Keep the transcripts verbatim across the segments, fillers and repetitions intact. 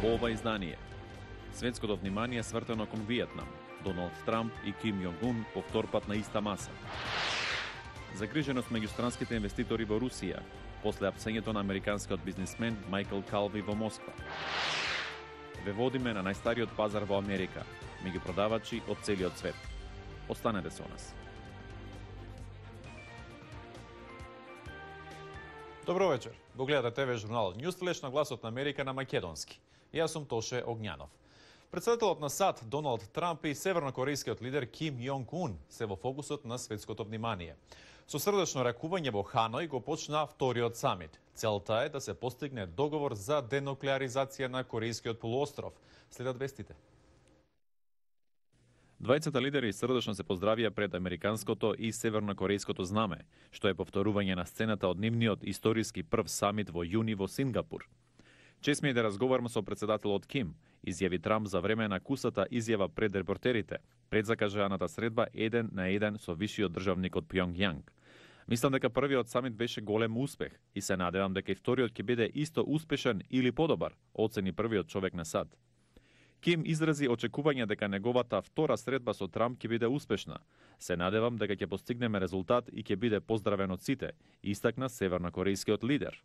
Во ова издание, светското внимание свртено кон Виетнам, Доналд Трамп и Ким Јонг-ун повторпат на иста маса. Загриженост меѓу странските инвеститори во Русија, после апсењето на американскиот бизнисмен Майкл Калви во Москва. Ве водиме на најстариот пазар во Америка, меѓу продавачи од целиот свет. Останете со нас. Добро вечер. Го гледате ТВ журналот Ньюсфлеш на гласот на Америка на македонски. Јас сум Тоше Огњанов. Председателот на САД Доналд Трамп и севернокорејскиот лидер Ким Јонг-ун се во фокусот на светското внимание. Со срдечно ракување во Ханој го почна вториот самит. Целта е да се постигне договор за денуклеаризација на Корејскиот полуостров. Следат вестите. Двајцата лидери срдечно се поздравија пред американското и севернокорејското знаме, што е повторување на сцената од нивниот историски прв самит во јуни во Сингапур. Чест ми е да разговарам со председателот Ким, изјави Трамп за време на кусата изјава пред репортерите, пред закажаната средба еден на еден со вишиот државник од Пјонгјанг. Мислам дека првиот самит беше голем успех и се надевам дека и вториот ќе биде исто успешен или подобар, оцени првиот човек на САД. Ким изрази очекување дека неговата втора средба со Трамп ќе биде успешна. Се надевам дека ќе постигнеме резултат и ќе биде поздравен од сите, истакна севернокорејскиот лидер.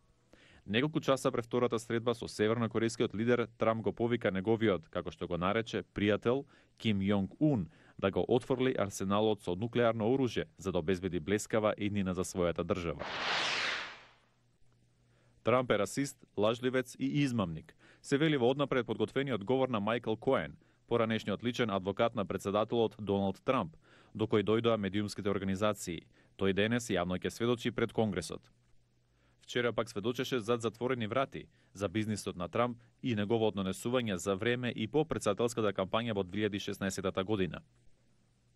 Неколку часа пред втората средба со севернокорејскиот лидер, Трамп го повика неговиот, како што го нарече, пријател Ким Јонг-ун да го отфрли арсеналот со нуклеарно оружје за да обезбеди блескава иднина за својата држава. Трамп е расист, лажливец и измамник, се вели во однапред подготвениот говор на Майкл Коен, поранешниот личен адвокат на председателот Доналд Трамп, до кој дојдоа медиумските организации. Тој денес јавно ќе сведочи пред Конгресот. Вчера пак сведочеше зад затворени врати за бизнисот на Трамп и неговото однесување за време и по председателската кампања во две илјади и шеснаесетта година.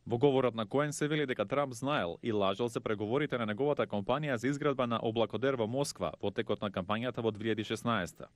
Во говорот на Коен се вели дека Трамп знаел и лажал се преговорите на неговата компанија за изградба на облакодер во Москва во текот на кампањата во две илјади и шеснаесетта.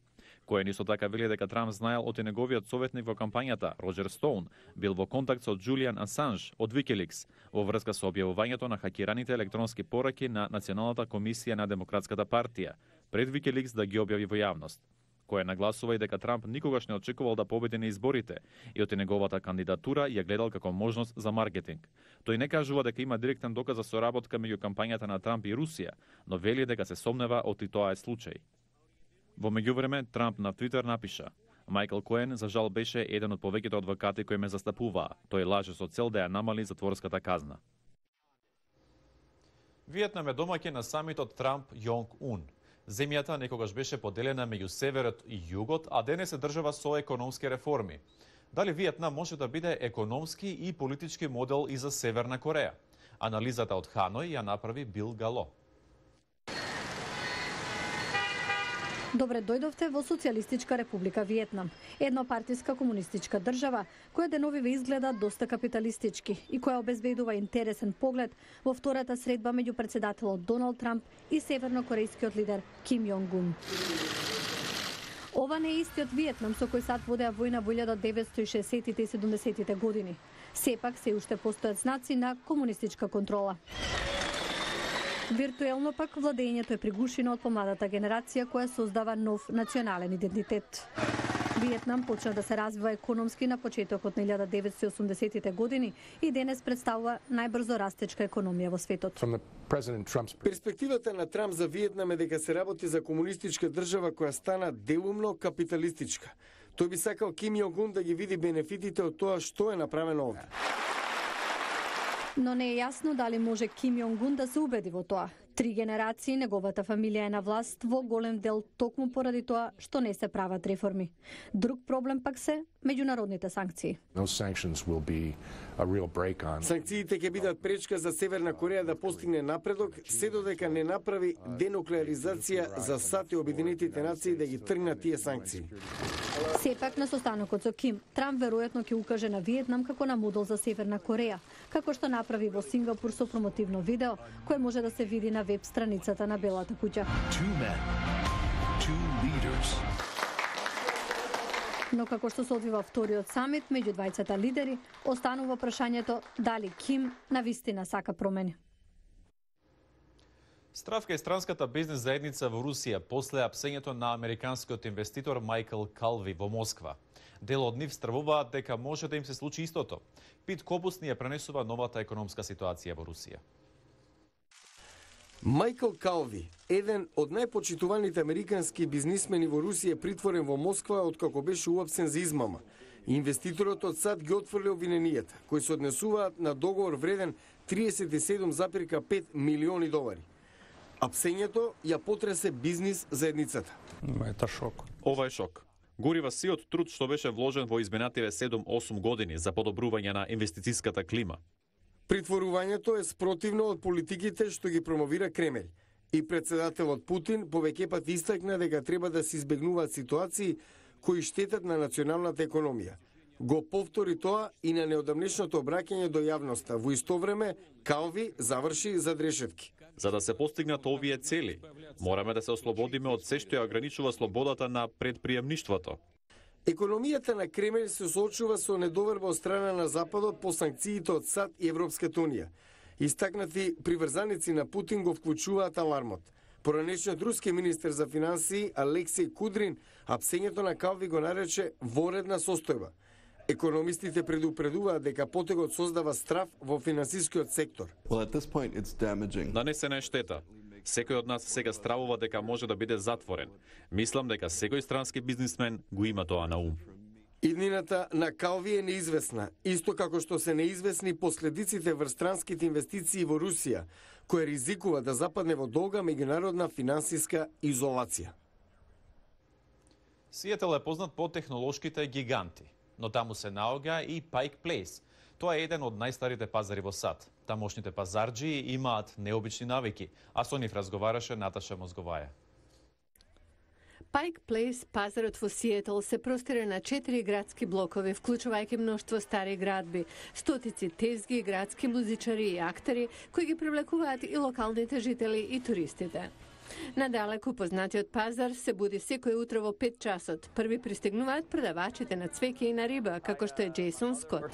Коен исто така вели дека Трамп знаел од и неговиот советник во кампањата, Роџер Стоун, бил во контакт со Џулијан Асанж од Викиликс во врска со објавувањето на хакираните електронски пораки на Националната комисија на Демократската партија, пред Викиликс да ги објави во јавност. Кој нагласува и дека Трамп никогаш не очекувал да победи на изборите и од неговата кандидатура ја гледал како можност за маркетинг. Тој не кажува дека има директен доказ за соработка меѓу кампањата на Трамп и Русија, но вели дека се сомнева од и тоа е случај. Во меѓувреме, Трамп на Твитер напиша: Майкл Коен за жал беше еден од повеќето адвокати кои ме застапуваа. Тој лаже со цел да ја намали затворската казна. Виетнам е домаќин на самитот Трамп-Јонг-ун. Земјата некогаш беше поделена меѓу северот и југот, а денес е држава со економски реформи. Дали Виетнам може да биде економски и политички модел и за Северна Кореја? Анализата од Ханој ја направи Бил Гало. Добре дојдовте во Социјалистичка република Виетнам, еднопартиска комунистичка држава која деновиве изгледа доста капиталистички и која обезбедува интересен поглед во втората средба меѓу председателот Доналд Трамп и севернокорејскиот лидер Ким Јонг-ун. Ова не е истиот Виетнам со кој САД водеа војна во илјада деветстотини и шеесеттите и седумдесеттите години. Сепак се уште постојат знаци на комунистичка контрола. Виртуелно пак владењето е пригушено од помладата генерација која создава нов национален идентитет. Виетнам почна да се развива економски на почетокот на илјада деветстотини и осумдесеттите години и денес представува најбрзо растечка економија во светот. Перспективата на Трамп за Виетнам е дека се работи за комунистичка држава која стана делумно капиталистичка. Тој би сакал Ким Јонг-ун да ги види бенефитите од тоа што е направено овде. Но не е јасно дали може Ким Јонг-ун да се убеди во тоа. Три генерации неговата фамилија е на власт во голем дел токму поради тоа што не се прават реформи. Друг проблем пак се меѓународните санкции. Санкциите ќе бидат пречка за Северна Кореја да постигне напредок, се додека не направи денуклеаризација за САД и Обединетите нации да ги тргнат тие санкции. Сепак на состанокот со Ким, Трамп веројатно ќе укаже на Виетнам како на модел за Северна Кореја, како што направи во Сингапур со промотивно видео, кое може да се види на веб страницата на Белата куќа. Но како што се одвива вториот самит меѓу двајцата лидери, останува прашањето дали Ким навистина сака промени. Страв кај странската бизнес заедница во Русија после апсењето на американскиот инвеститор Майкл Калви во Москва. Дел од нив стравуваат дека може да им се случи истото. Пит Кобус ни ја пренесува новата економска ситуација во Русија. Майкл Калви, еден од најпочитуваните американски бизнисмени во Русија, притворен во Москва откако беше уапсен за измама. Инвеститорот од САД ги отфрли обвиненијата, кои се однесуваат на договор вреден триесет и седум зарем пет милиони долари. Апсењето ја потресе бизнис заедницата. Ета шок. Ова е шок. Горива сиот труд што беше вложен во изминативе седум-осум години за подобрување на инвестицијската клима. Притворувањето е спротивно од политиките што ги промовира Кремљ. И председателот Путин повеќе пати истакна дека треба да се избегнуваат ситуации кои штетат на националната економија. Го повтори тоа и на неодамнешното обраќање до јавноста. Во исто време, Калви заврши зад решетки. За да се постигнат овие цели, мораме да се ослободиме од се што ја ограничува слободата на предприемништвото. Економијата на Кремљ се соочува со недоверба од страна на Западот по санкциите од САД и Европската унија. Истакнати приврзаници на Путин го вклучуваат алармот. Поранешниот руски министер за финансии Алексеј Кудрин апсењето на Калви го нарече воредна состојба. Економистите предупредуваат дека потегот создава страв во финансискиот сектор. Well, at this point it's damaging. Нанесена е штета. Секој од нас сега стравува дека може да биде затворен. Мислам дека секој странски бизнисмен го има тоа на ум. Иднината на Калви е неизвестна, исто како што се неизвестни последиците врз странските инвестиции во Русија, која ризикува да западне во долга меѓународна финансиска изолација. Сиетел е познат по технолошките гиганти, но таму се наоѓа и Пайк Плейс. Тоа е еден од најстарите пазари во САД. Тамошните пазарџии имаат необични навики, а со нив разговараше Наташа Мозговаја. Пайк Плейс, пазарот во Сиетл, се простира на четири градски блокови, вклучувајќи мноштво стари градби, стотици тезги, градски музичари и актери, кои ги привлекуваат и локалните жители и туристите. Надалеку познатиот пазар се буди секој утро во пет часот. Први пристигнуваат продавачите на цвеќе и на риба, како што е Джейсон Скот.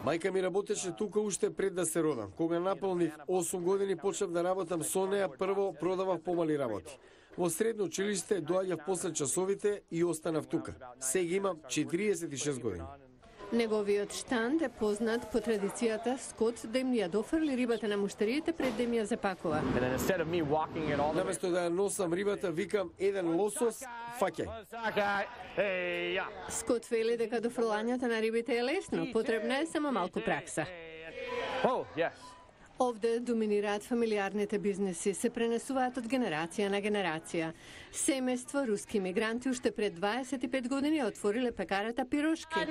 Мајка ми работеше тука уште пред да се родам. Кога наполнив осум години почнав да работам со неа, прво продавав помали работи. Во средно училиште доаѓав после часовите и останав тука. Сега имам четириесет и шест години. Неговиот штанд е познат по традицијата Скот да им ја дофрли рибата на муштариите пред да им ја запакува. Наместо да ја носам рибата, викам еден лосос, фаќај. Скот вели дека дофрлањето на рибите е лесно, потребна е само малку пракса. Овде доминираат фамилиарните бизнеси, се пренесуваат од генерација на генерација. Семејство руски мигранти уште пред дваесет и пет години отвориле пекарата Пирошки.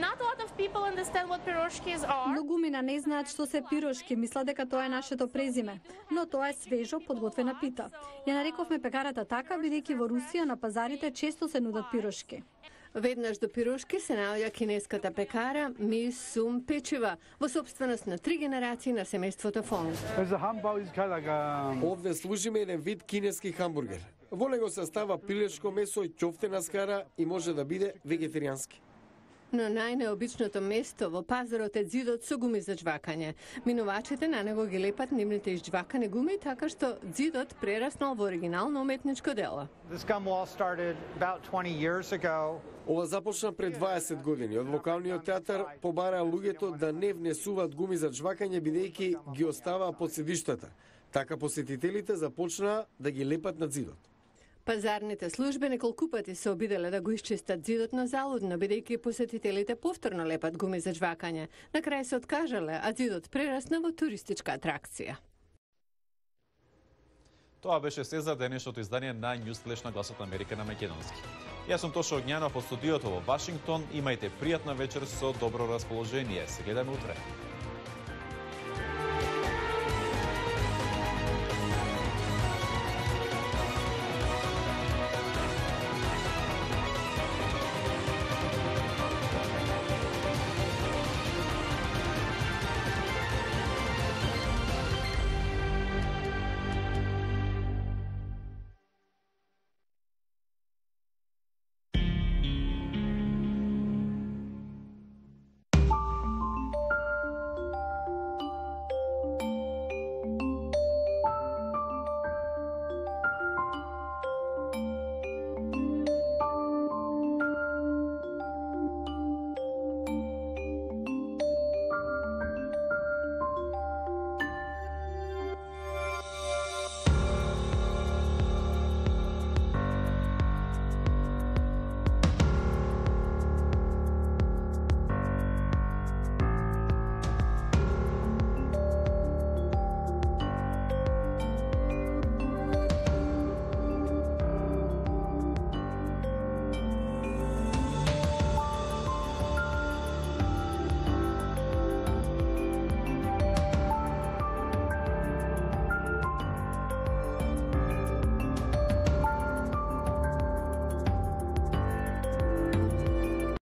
Многумина не знаат што се пирошки, мислат дека тоа е нашето презиме, но тоа е свежо подготвена пита. Ја нарековме пекарата така, бидејќи во Русија на пазарите често се нудат пирошки. Веднаш до Пирошки се наоѓа кинеската пекара Ми Сум Печива, во собственост на три генерации на семејството Фонг. Овде служиме еден вид кинески хамбургер. Во него се става пилешко месо и ќофтена скара и може да биде вегетаријански. Но најнеобичното место во пазарот е ѕидот со гуми за џвакање. Минувачите на него ги лепат нивните изџвакани гуми, така што ѕидот прераснал во оригинално уметничко дело. Ова започна пред дваесет години. Од локалниот театар побараа луѓето да не внесуваат гуми за џвакање, бидејќи ги оставаа под седиштата. Така посетителите започнаа да ги лепат на ѕидот. Пазарните служби неколку пати се обиделе да го исчистат ѕидот, но залудно, бидејќи посетителите повторно лепат гуми за џвакање. На крај се откажале, а ѕидот прерасна во туристичка атракција. Тоа беше се за денешното издание на Newsflash на Гласот на Америка на македонски. Јас сум Тоша Огњанов од студиото во Вашингтон. Имајте пријатна вечер со добро расположение. Се гледаме утре.